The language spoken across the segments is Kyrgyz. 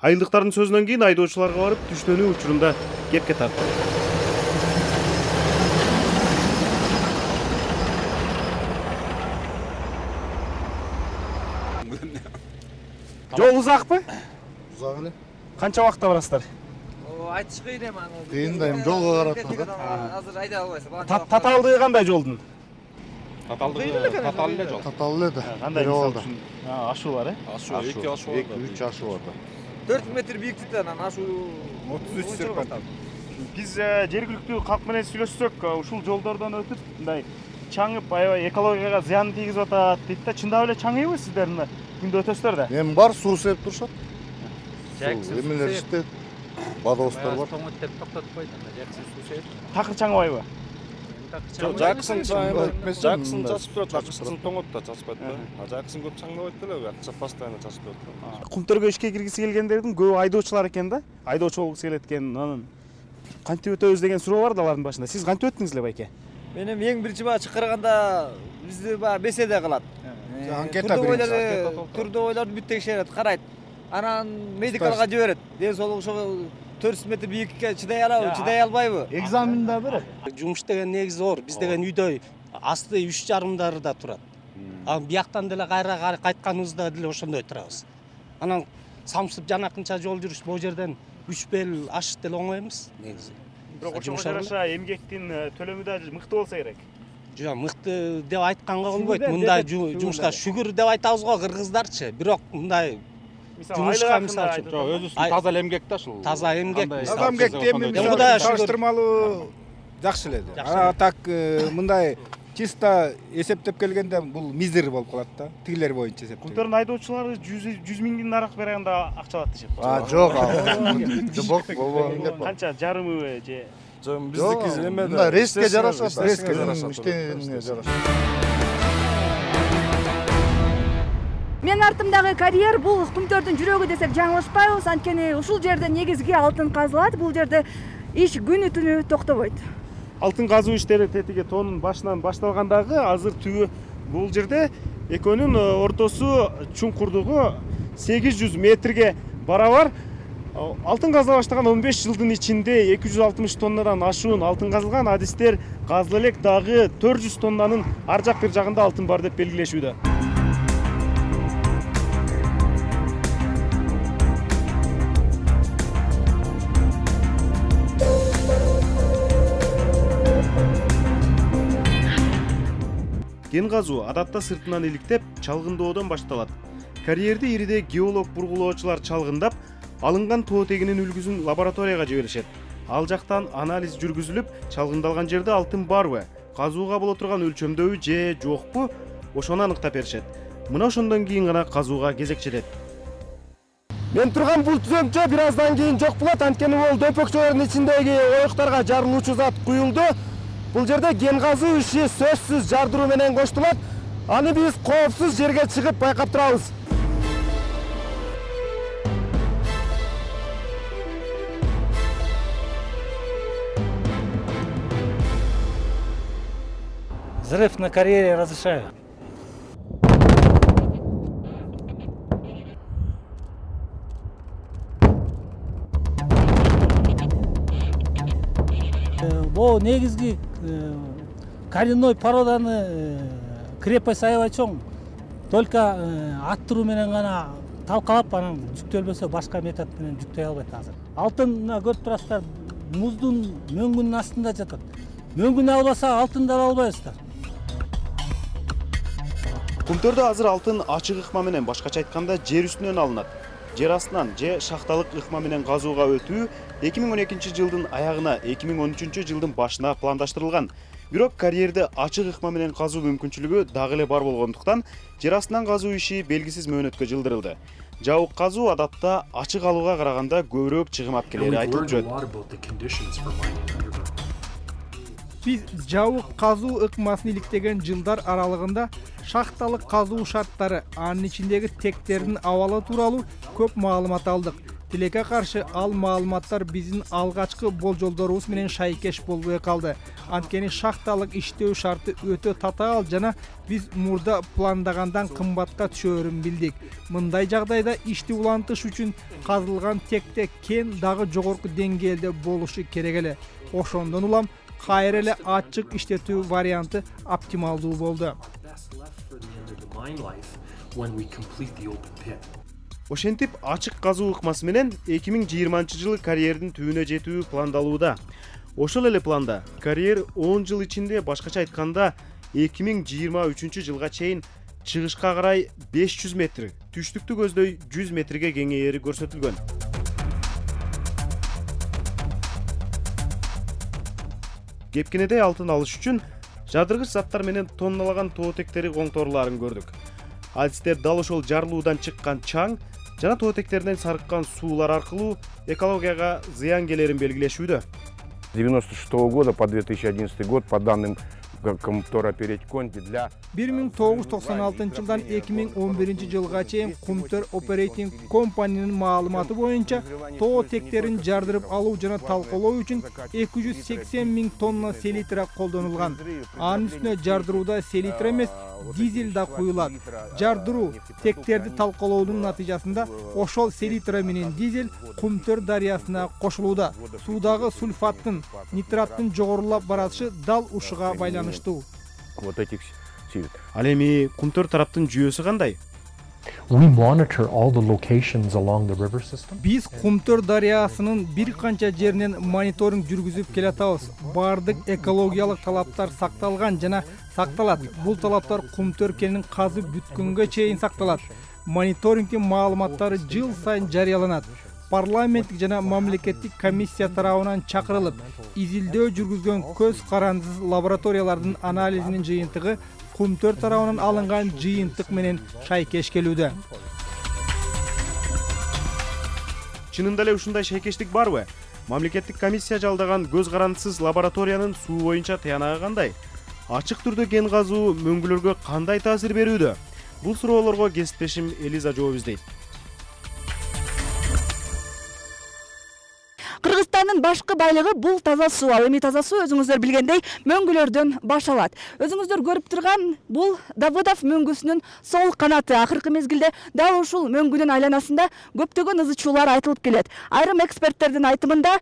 Айылдыктардын сөзүнөн кийин айдоочуларга барып түштөнүү учурунда кепке тартты. Жол узакпы? Узак эле. Канча убакытта барасыздар? Айтыш кыйын эми аны. Кыйын да эми жолго карап Азыр айда албайсың. Татаалдыгы кандай жолдун? Татаалдыгы татаал эле жол. Татаал эле да. Кандай болду? Ашуу бар, Ашуу, 2 ашуу бар. 2-3 ашуу бар да. 4 метр бийиктиктен анан ашуу 33 серпат. Биз жергиликтүү калк менен сүйлөшсөк, ушул жолдордон өтүп, мындай чаңып, аябай экологияга зыян тийгизип атат дейт да. Чындап эле чаңыйбы сиздердин күндө өтөсүздөр да? Эми бар суу сеп турушат. Жаксы. Эмелер иштейт. Водовоздар бар. Тоңот деп токтотуп койду. Жаксы суу сеп. Такыр чаңыбайбы? Жаксын чачып турат, жаксын тоңот да чачпайт да. Жаксын көп чаңдабайт деле, акча постоянно чачып турат. Кумтөргө ишке киргиси келгендердин көбү айдоочулар экен да. Айдоочу болгусу келет экен. Анан кантип өтөбүз деген суроо бар да алардын башында. Сиз кантип өттүңүз эле байке? Мен эми эң биринчи баа чакырганда бизди баягы беседа кылат. Анкета Турдобойлорду бүт текшерет, карайт. Анан медикалга жиберет. Ден соолугу ошого 400 метр бийиктикке чыдай алабы, чыдай албайбы? Экзамен да берет. Жумуш деген негизи оор. Биз деген үйдө асты 3,5-дарда турат. Анан бияктан деле кайра кайтканыбызда деле ошондой турабыз. Анан самсып жанакынча жол жүрүш бул жерден 3 бел ашыш деле оңой эмес негизи. Бирок ошого жараша эмгектин төлөмү да мыкты болсо керек. Жок, мыкты деп айтканга болбойт. Мындай жумушка шүгүр деп айтабыз го кыргыздарчы. Бирок мындай жумушка мисалы үчүн Жок, өзүбүздүн таза эле эмгек да ушул. таза эмгек. Таза эмгекти эми салыштырмалуу жакшы эле. Так мындай чисто эсептеп келгенде бул мизер болуп калат да. Тигилер боюнча эсептеп. Кумтөрдүн айдоочулары 100 миңдин арак бергенде акча алат дешет. Жок, болбогон. Канча жарымыбы же? Жок, биздики эме да. Рейске жарашат, рейске жарашат. Иштегенге жарашат. Мен артымдагы карьер бул Кумтөрдүн жүрөгү десек жаңылышпайбыз. Анткени ушул жерде негизги алтын казылат. Бул жерде иш күнү түнү токтобойт. Алтын казуу иштери тетиги тоонун башынан башталгандагы азыр түбү бул жерде экөөнүн ортосу чуңкурдугу 800 метрге барабар. Алтын казыла баштаган 15 жылдын ичинде 260 тоннадан ашуун алтын казылган. Адистер казыла элек дагы 400 тоннанын ар жак бир жагында алтын бар деп белгилешүүдө. Кен казуу адатта сыртынан иликтеп, чалгындоодон башталат. Карьерди ириде геолог бургулоочулар чалгындап, алынган тоо тегинин үлгүсүн лабораторияга жиберишет. Ал жактан анализ жүргүзүлүп, чалгындалган жерде алтын барбы, казууга боло турган өлчөмдөбү же жокпу, ошону аныктап беришет. Мына ошондон кийин гана казууга кезек жетет. Мен турган бул түзөмчө бир аздан кийин жок болот, анткени бул дөпөкчөлөрдүн ичиндеги оюктарга жарылуучу зат куюлду. Бул жерде кен казуу иши сөзсүз жардыруу менен коштулат. Аны биз коопсуз жерге чыгып байкап турабыз. Взрыв на карьере разрешаю. Бул негизги коренной породаны крепость аябай чоң. Только аттыруу менен гана талкалап, анан жүктөлбөсө башка метод менен жүктөй албайт азыр. Алтын көрүп турасыздар, муздун мөңгүнүн астында жатат. Мөңгүн албаса алтынды ала албайсыздар. Кумтөрдө азыр алтын ачык ыкма менен, башкача айтканда жер үстүнөн алынат. Жер астынан же шахталык ыкма менен казууга өтүү 2012 жылдын аягына 2013 жылдын башына пландаштырылган. Бирок карьерде ачык ыкма менен казуу мүмкүнчүлүгү дагы эле бар болгондуктан жер астынан казуу иши белгисиз мөөнөткө жылдырылды. Жабык казуу адатта ачык алууга караганда көбүрөөк чыгым алып келери айтылып жүрөт. Биз жабык казуу ыкмасын иликтеген жылдар аралыгында шахталык казуу шарттары, анын ичиндеги тектердин абалы тууралуу көп маалымат алдык. Тилекке каршы ал маалыматтар биздин алгачкы болжолдорубуз менен шайкеш болбой калды. Анткени шахталык иштөө шарты өтө татаал жана биз мурда пландагандан кымбатка түшөөрүн билдик. Мындай жагдайда ишти улантыш үчүн казылган текте кен дагы жогорку деңгээлде болушу керек эле. Ошондон улам кайра эле ачык иштетүү варианты оптималдуу болду. Ошентип ачык казуу ыкмасы менен 2020-жылы карьердин түбүнө жетүү пландалууда. Ошол эле планда карьер 10 жыл ичинде, башкача айтканда 2023-жылга чейин чыгышка карай 500 метр, түштүктү көздөй 100 метрге кеңейери көрсөтүлгөн. Кепкенедей алтын алыш үчүн жадыргыч заттар менен тонналаган тоотектери коңторуларын көрдүк. Адистер дал ошол жарылуудан чыккан чаң жана тоотектерден сарыккан суулар аркылуу экологияга зыян келерин белгилешүүдө. 1996 года по 2011 год по данным Кумтора Перетьконти для 1996 жылдан 2011 жылга чейин Кумтөр Operating Company'нын маалыматы боюнча тоотектерин жардырып алуу жана талкалоо үчүн 280 000 тонна селитра колдонулган. Анын үстүнө жардырууда селитра эмес, дизель да куюлат. Жардыруу тектерди талкалоонун натыйжасында ошол селитра менен дизель Кумтөр дарыясына кошулууда. Суудагы сульфаттын, нитраттын жогорулап баратышы дал ушуга байланыштуу. вот этих сил. Ал эми Кумтөр тараптын жүйөсү кандай? We monitor all the locations along the river system. Биз Кумтөр дарыясынын бир канча жеринен мониторинг жүргүзүп келатабыз. Бардык экологиялык талаптар сакталган жана сакталат. Бул талаптар Кумтөр кенин казып бүткөнгө чейин сакталат. Мониторингдин маалыматтары жыл сайын жарыяланат. Парламенттик жана мамлекеттик комиссия тарабынан чакырылып, изилдөө жүргүзгөн көз карандысыз лабораториялардын анализинин жыйынтыгы Кумтөр тарабынан алынган жыйынтык менен шайкеш келүүдө. Чынында эле ушундай шайкештик барбы? Мамлекеттик комиссия жалдаган көз карандысыз лабораториянын суу боюнча тыянагы кандай? Ачык түрдө кен казуу мөңгүлөргө кандай таасир берүүдө? Бул суроолорго кесиптешим Элиза жооп издейт. Кыргызстандын башкы байлыгы бул таза суу. Ал эми таза суу өзүңүздөр билгендей мөңгүлөрдөн баш алат. Өзүңүздөр көрүп турган бул Давыдов мөңгүсүнүн сол канаты. Акыркы мезгилде дал ушул мөңгүнүн айланасында көптөгөн ызычуулар айтылып келет. Айрым эксперттердин айтымында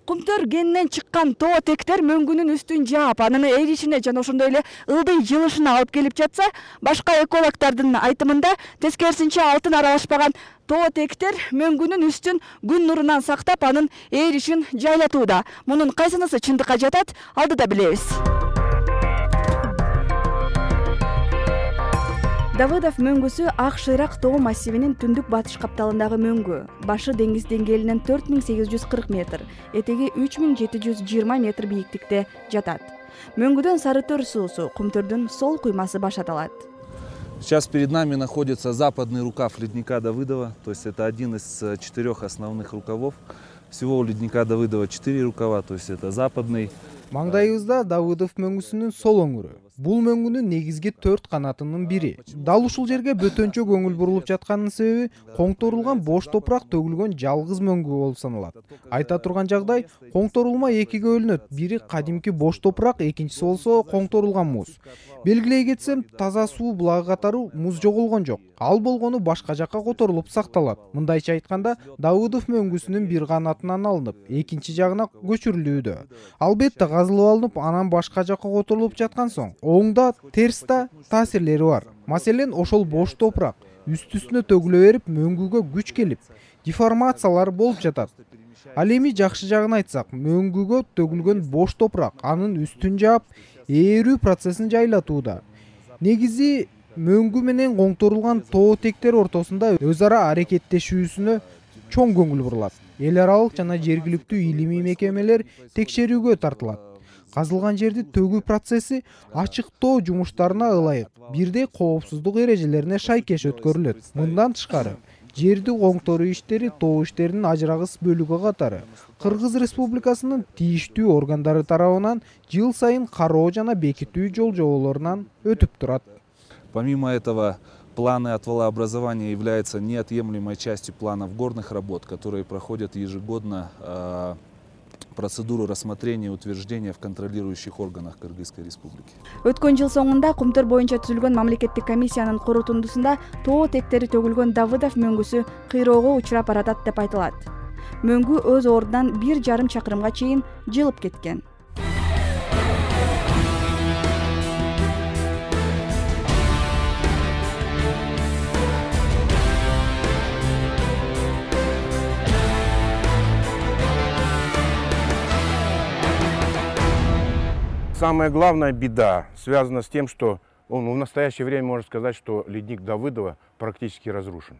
Кумтөр кенинен чыккан тоотектер мөңгүнүн үстүн жаап, анын эришине жана ошондой эле ылдый жылышына алып келип жатса, башка экологдордун айтымында тескерисинче алтын аралашпаган тоотектер мөңгүнүн үстүн күн нурунан сактап, анын эришин жайлатууда. Мунун кайсынысы чындыкка жатат, алдыда билебиз. Давыдов мөңгүсү Ак Шыйрак тоо массивинин түндүк батыш капталындагы мөңгү. Башы деңиз деңгээлинен 4840 метр, этеги 3720 метр бийиктикте жатат. Мөңгүдөн Сарытөр суусу, Кумтөрдүн сол куймасы башаталат. Сейчас перед нами находится западный рукав ледника Давыдова, то есть это один из 4 основных рукавов. Всего у ледника Давыдова 4 рукава, то есть это западный. Маңдайыбызда Давыдов мөңгүсүнүн сол өңүрү. Бул мөңгүнүн негизги 4 канатынын бири. Дал ушул жерге бөтөнчө көңүл бурулуп жатканын себеби коңторулган бош топурак төгүлгөн жалгыз мөңгү болуп саналат. Айта турган жагдай, коңторулма экиге бөлүнөт. Бири кадимки бош топурак, экинчиси болсо коңторулган муз. Белгилей кетсем, таза суу булагы катары муз жоголгон жок. Ал болгону башка жакка которулуп сакталат. Мындайча айтканда, Давыдов мөңгүсүнүн бир канатынан алынып, экинчи жагына көчүрүлүүдө. Албетте казылып алынып, анан башка жакка которулуп жаткан соң, оңда, терсте таасирлери бар. Маселен, ошол бош топурак үстүнө төгүлө берип, мөңгүгө күч келип, деформациялар болуп жатат. Ал эми жакшы жагын айтсак, мөңгүгө төгүлгөн бош топурак анын үстүн жаап, ээрүү процессин жайлатууда. Негизи мөңгү менен коңторулган тоотектер ортосунда өз ара аракеттешүүсүнө чоң көңүл бурулат. Эл аралык жана жергиликтүү илимий мекемелер текшерүүгө тартылат. Казылган жерди төгүү процесси ачыктоо жумуштарына ылайык бирдей коопсуздук эрежелерине шайкеш өткөрүлөт. Мындан тышкары, жерди коңторуу иштери тоо иштеринин ажырагыс бөлүгү катары Кыргыз Республикасынын тийиштүү органдары тарабынан жыл сайын кароо жана бекитүү жол жоболорунан өтүп турат. Помимо этого, Планы отвалообразования являются неотъемлемой частью планов горных работ, которые проходят ежегодно процедуру рассмотрения и утверждения в контролирующих органах Кыргызской Республики. Өткөн жыл соңунда Кумтөр боюнча түзүлгөн мамлекеттик комиссиянын корутундусунда тоо тектери төгүлгөн Давыдов мөңгүсү кыйроого учурап баратат деп айтылат. Мөңгү өз ордунан 1,5 чакырымга чейин жылып кеткен. Самая главная беда связана с тем, что он в настоящее время, можно сказать, что ледник Давыдова практически разрушен.